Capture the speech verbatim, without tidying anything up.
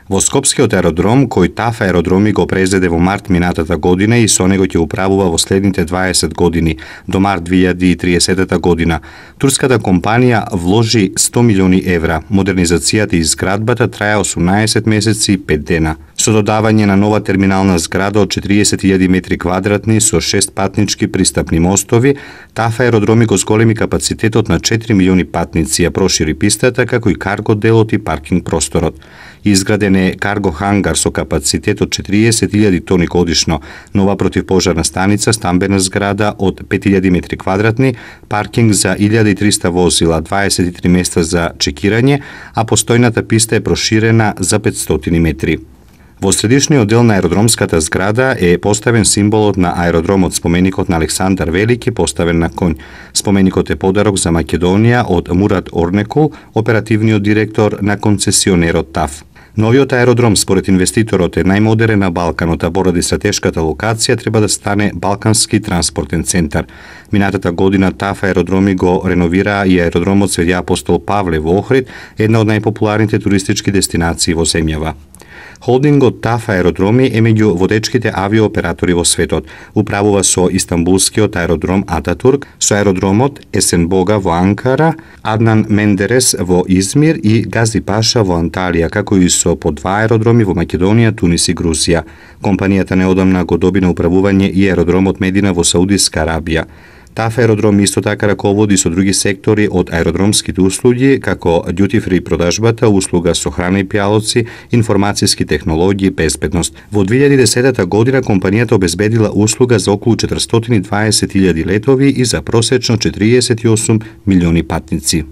Во Скопскиот аеродром, кој ТАФ аеродроми го презеде во март минатата година и со него ќе управува во следните дваесет години, до март две илјади и триесета година, турската компанија вложи сто милиони евра. Модернизацијата и изградбата трае осумнаесет месеци и пет дена. Со додавање на нова терминална зграда од четириесет илјади метри квадратни со шест патнички пристапни мостови, ТАФ аеродроми го зголеми капацитетот на четири милиони патници, ја прошири пистата, како и карго делот и паркинг просторот. Изграден е карго хангар со капацитет од четириесет илјади тони годишно, нова противпожарна станица, стамбена зграда од пет илјади метри квадратни, паркинг за илјада и триста возила, дваесет и три места за чекирање, а постојната писта е проширена за петстотини метри. Во средишниот дел на аеродромската зграда е поставен символот на аеродромот, споменикот на Александар Велики, поставен на конј. Споменикот е подарок за Македонија од Мурат Орнекул, оперативниот директор на концесионерот ТАФ. Новиот аеродром, според инвеститорот, е најмодерен на Балканот, а поради стратешката локација треба да стане Балкански транспортен центар. Минатата година ТАФ аеродроми го реновира и аеродромот Свети Апостол Павле во Охрид, една од најпопуларните туристички дестинации во земјава. Холдингот ТАФ аеродроми е меѓу водечките авиооператори во светот. Управува со Истанбулскиот аеродром Ататурк, со аеродромот Есенбога во Анкара, Аднан Мендерес во Измир и Гази Паша во Анталија, како и со по два аеродроми во Македонија, Тунис и Грузија. Компанијата неодамна го доби на управување и аеродромот Медина во Саудиска Арабија. ТАФ аеродром исто така раководи со други сектори од аеродромските услуги, како duty free продажбата, услуга со храна и пијалоци, информацијски технологии, безбедност. Во две илјади и десета година компанијата обезбедила услуга за околу четиристотини и дваесет илјади летови и за просечно четириесет и осум милиони патници.